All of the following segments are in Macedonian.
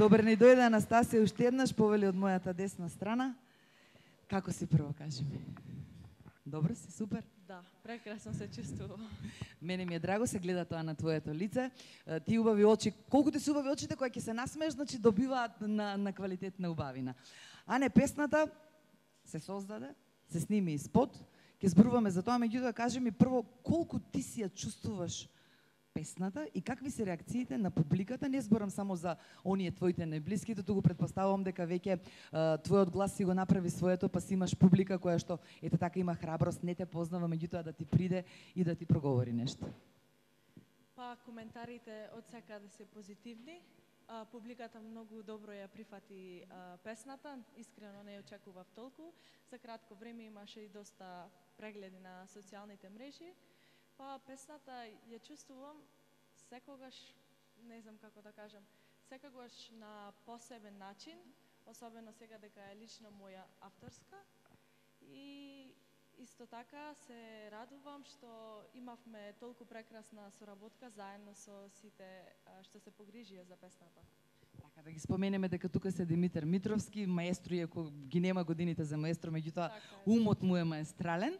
Добар ни дојде Анастасија уште еднаш, повели од мојата десна страна. Како си прво, кажи ми? Добро си, супер? Да, прекрасно се чувствувам. Мене ми е драго, се гледа тоа на твоето лице. Ти убави очи, колку ти се убави очите, кои ќе се насмееш, значи добиваат на квалитетна убавина. А не, песната се создаде, се сними и спот, ќе зборуваме за тоа, меѓутоа кажи ми прво колку ти си ја чувствуваш песната и какви се реакциите на публиката. Не зборам само за оние твоите најблиските, туку предпоставувам дека веќе твојот глас си го направи своето, па си имаш публика која што ете така има храброст, не те познава, меѓутоа да ти приде и да ти проговори нешто. Па коментарите од секаде се позитивни. Публиката многу добро ја прифати песната, искрено не ја очекував толку. За кратко време имаше и доста прегледи на социјалните мрежи. Па песната ја чувствувам секогаш, не знам како да кажам, секогаш на посебен начин, особено сега дека е лично моја авторска. И исто така се радувам што имавме толку прекрасна соработка заедно со сите што се погрижија за песната. Така да ги споменеме дека тука се Димитар Митровски, маестро, иако ги нема годините за маестро, меѓутоа умот му е маестрален.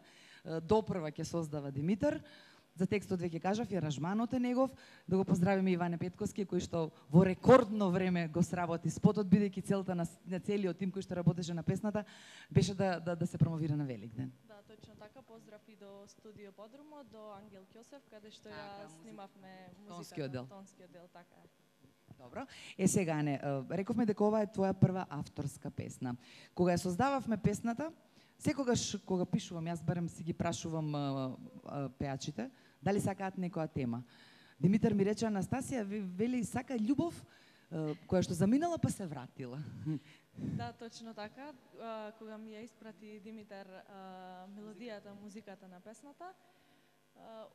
Допрва ќе создава Димитар. За текстот веќе кажав, и аранжманот е негов. Да го поздравиме Иване Петковски, кој што во рекордно време го сработи спотот, бидејќи целта на целиот тим кој што работеше на песната беше да се промовира на Великден. Да, точно така. Поздрав и до студио Подрумо, до Ангел Ќосев, каде што ја снимавме музиката, тонскиот дел, така е. Добро. Сега не, рековме дека ова е твоја прва авторска песна. Кога ја создававме песната, секогаш кога пишувам, јас барем си ги прашувам пеачите, дали сакаат некоја тема. Димитар ми рече, Анастасија, вели, сака љубов, која што заминала па се вратила. Да, точно така. Кога ми ја испрати Димитар мелодијата, музиката на песната,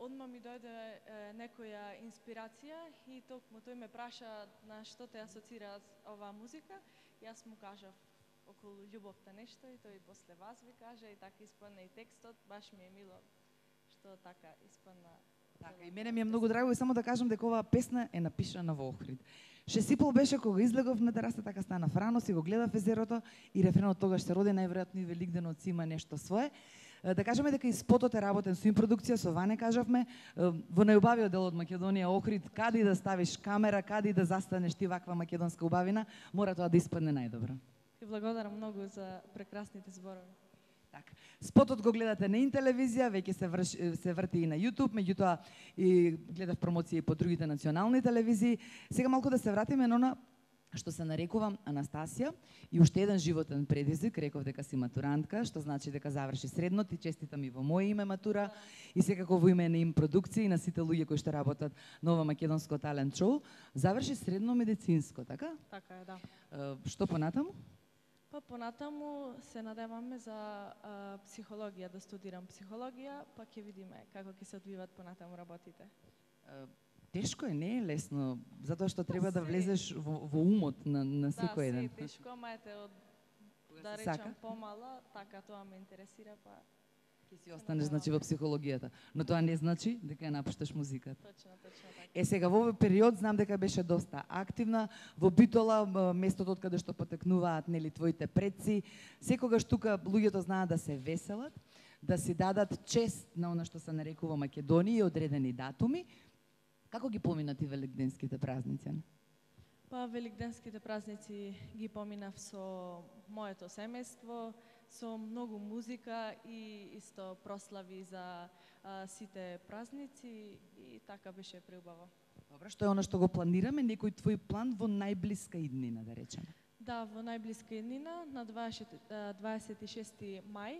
одма ми дојде некоја инспирација и токму тој ме праша на што те асоцира оваа музика. Јас му кажав околу љубовта нешто и тој после вас ви кажа и така испадна и текстот, баш ми е мило што така испадна. Така, и мене ми е многу драго и само да кажам дека оваа песна е напишана во Охрид. Шесипол беше кога излегов на тераса, така стана Франо, си го гледав езерото и рефренот тогаш се роди, најверојатно и Великденот си има нешто свое. Да кажеме дека и спотот е работен со импродукција, со Ване кажавме, во најубавиот дел од Македонија, Охрид, каде и да ставиш камера, каде и да застанеш ти ваква македонска убавина, мора тоа да испадне најдобро. И благодарам многу за прекрасните зборови. Така. Спотот го гледате на Интелевизија, веќе се врти и на YouTube, меѓутоа и гледав промоција и по другите национални телевизии. Сега малку да се вратиме на она што се нарекувам Анастасија и уште еден животен предизвик, реков дека си матурантка, што значи дека заврши средно, ти честитам и во моје име матура и секако во име на им продукција и на сите луѓе кои што работат на ова македонско талент шоу, заврши средно медицинско, така? Така е, да. Што понатаму? Па понатаму се надеваме за психологија, да студирам психологија, па ќе видиме како ќе се одвиват понатаму работите. Тешко е, не е лесно, затоа што треба да влезеш во умот на секој еден. Да, се е тешко, ама ете од, да речам, помала, така тоа ме интересира, па ќе си останеш значи во психологијата, но тоа не значи дека ја напушташ музиката. Точно така. Сега во овој период знам дека беше доста активна во Битола, местото од каде што потекнуваат нели твоите предци. Секогаш тука луѓето знаат да се веселат, да си дадат чест на она што се нарекува Македонија и одредени датуми. Како ги помина ти великденските празници? Па великденските празници ги поминав со моето семејство, со многу музика и исто прослави за сите празници и така беше преубаво. Добро, што е она што го планираме, некој твој план во најблиска иднина, да речеме? Да, во најблиска иднина, на 26 мај,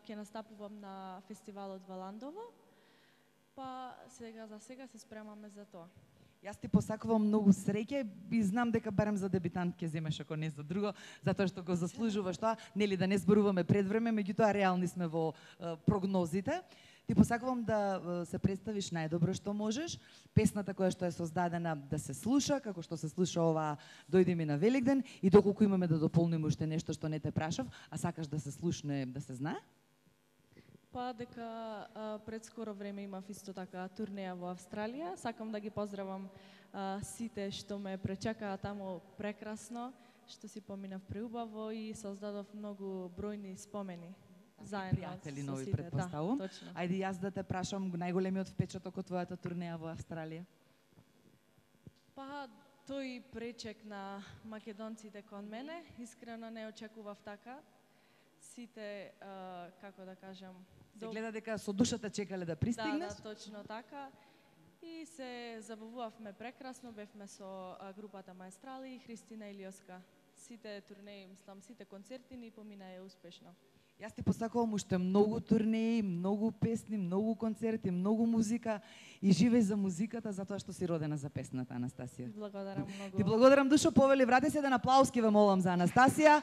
ќе настапувам на фестивалот во Ландово, па за сега се спремаме за тоа. Јас ти посакувам многу среќа и знам дека барем за дебитант ќе земеш, ако не за друго, затоа што го заслужуваш тоа, нели да не зборуваме пред време, меѓутоа реални сме во прогнозите. Ти посакувам да се представиш најдобро што можеш, песната која што е создадена да се слуша, како што се слуша ова Дојди ми на Великден и доколку имаме да дополниме уште нешто што не те прашав, а сакаш да се слушне, да се знае? Па дека пред скоро време имав исто така турнеја во Австралија. Сакам да ги поздравам сите што ме пречекаа таму прекрасно, што си поминав преубаво и создадов многу бројни спомени. Заедно Пријатели со нови, сите. предпоставувам. Да, точно. Ајде јас да те прашам најголемиот впечаток од твојата турнеја во Австралија. Па тој пречек на македонците кон мене, искрено не очекував така. Сите, како да кажам, Се гледа дека со душата чекале да пристигнеш. Да, точно така. И се забавувавме прекрасно, бевме со групата Маестрали и Христина Илиоска. Сите турнеи, мислам, сите концерти ни поминаа успешно. Јас ти посакувам уште многу турнеи, многу песни, многу концерти, многу музика и живеј за музиката затоа што си родена за песната, Анастасија. Благодарам многу. Ти благодарам душо, повели, врати се еден аплауз ке ве молам за Анастасија.